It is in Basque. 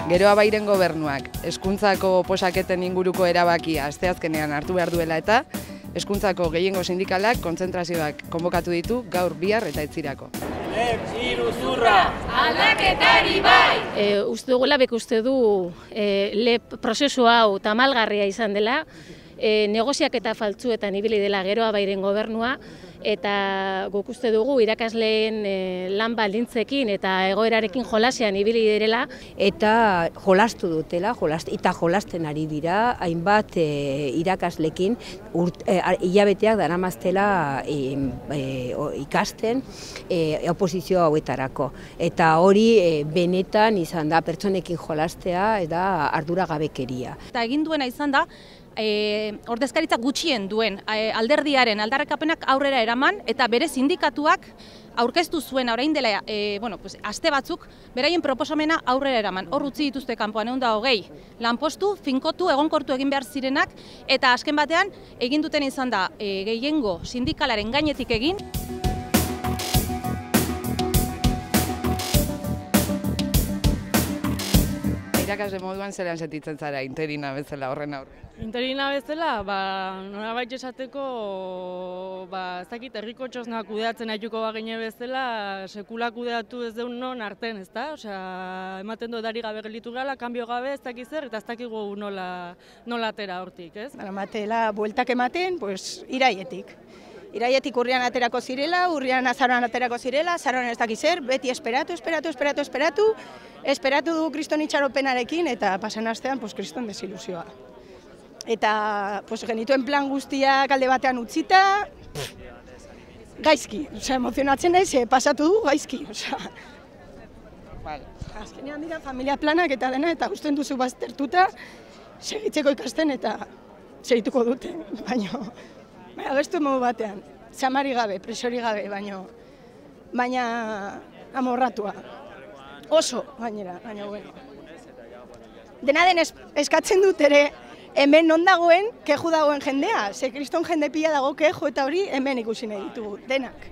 Geroa Bairen gobernuak hezkuntzako oposaketen inguruko erabakia asteazkenean hartu behar duela eta hezkuntzako gehiengo sindikalak kontzentrazioak konbokatu ditu gaur, bihar eta etzirako. Iruzurra, aldaketari bai! Uste dugula uste du prozesu hau tamalgarria izan dela, negoziaketa faltsuetan ibili dela Geroa Bairen gobernua, eta guk uste dugu irakasleen lan baldintzekin eta egoerarekin jolasean ibili direla. Eta jolastu dutela, eta jolasten ari dira, hainbat irakaslekin hilabeteak daramaztela ikasten oposizio hauetarako. Eta hori benetan izan da pertsonekin jolastea eta arduragabekeria. Eta egin duena izan da, ordezkaritza gutxien duen alderdiaren aldarrikapenak aurrera eraman eta bere sindikatuak aurkeztu zuen orain dela aste batzuk beraien proposamena aurrera eraman. Hor utzi dituzte kanpoan 120 lanpostu, finkotu, egonkortu egin behar zirenak eta azken batean egin duten izan da gehiengo sindikalaren gainetik egin. Irakasle moduan zelan sentitzen zara interina bezala horren aurrean? Interina bezala, nolabait esateko, ez dakit herriko txosna kudeatzen haituko bagine bezala, sekula kudeatu ez deun non arten, ezta? Osea, ematen du edari gabe gelditu gala, kanbio gabe, ez dakit zer, eta ez dakigu nola atera hortik, ez? Matela bueltak ematen, iraietik. Iraietik urrian aterako zirela, urrian azaroan aterako zirela, azaroan ez dakiz zer, beti esperatu du kriston itxaropenarekin eta pasan astean kriston desilusioa. Eta genituen plan guztiak alde batean utzita, gaizki, emozionatzen naiz, pasatu du gaizki. Azkenean dira familia planak eta dena, eta usten duzu baztertuta, segitzeko ikasten eta segituko dute, baina bestu modu batean, zamari gabe, presori gabe, baina amorratua. Oso, baina bueno. Dena den eskatzen dut ere, hemen non dagoen, keju dagoen jendea, ze kriston jende pila dago keju eta hori hemen ikusi nahi ditugu, denak.